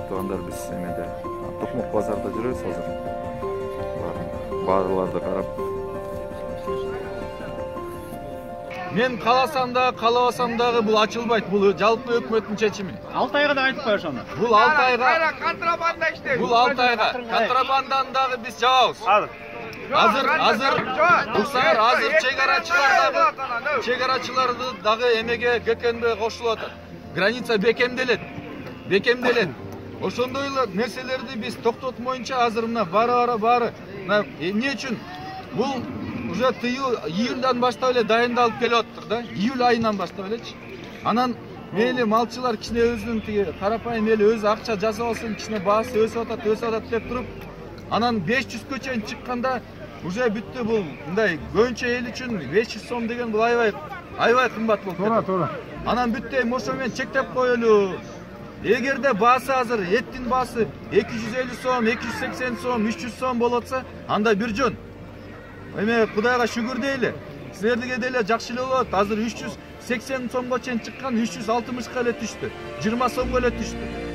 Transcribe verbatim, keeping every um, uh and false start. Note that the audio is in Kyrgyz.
тургандар биз эмеде Токмок базарда жүрөбүз азыр. Баарларды карап. Мен кааласам да, каалабасам дагы бул ачылбайт. Бул жалпы өкмөттүн чечими. алты айга да айтып коюш аны. Бул алты айга контрабанда иштейбиз. Бул алты айга контрабанданы дагы биз жабабыз. Азыр азыр уксаңар азыр чегарачылар дагы чегарачыларды дагы эмеге ГКНБ кошулуп атат. Граница бекемделет. Бекемделет. Ошондой эле нерселерди биз токтотмоюнча азыр мына бара-бара баары эмне үчүн бул уже тыюу июльдан баштап эле дайындалып келип атыптыр да. Июль айынан баштап элечи. Анан мейли малчылар кичине өзүнүн тиги карапайым мейли өзү акча жасап алсын, кичине баасы өсүп атат, өсүп атат деп туруп, анан беш жүзгө чейин чыкканда уже бүттү бул мындай көбүнчө эл үчүн беш жүз сом деген бул аябай аябай кымбат болуп кетти. Туура, туура. Анан бүттү эми ошо менен чектеп коелу. Эгерде баасы азыр эттин баасы эки жүз элүү сом, эки жүз сексен сом, үч жүз сом болот атса, анда бир жөн. Эме Кудайга шүгүр дейли. Силерге деле жакшы эле болот. Азыр үч жүз сексен сомго чейин чыккан үч жүз алтымышка эле түштү. жыйырма сомго эле түштү.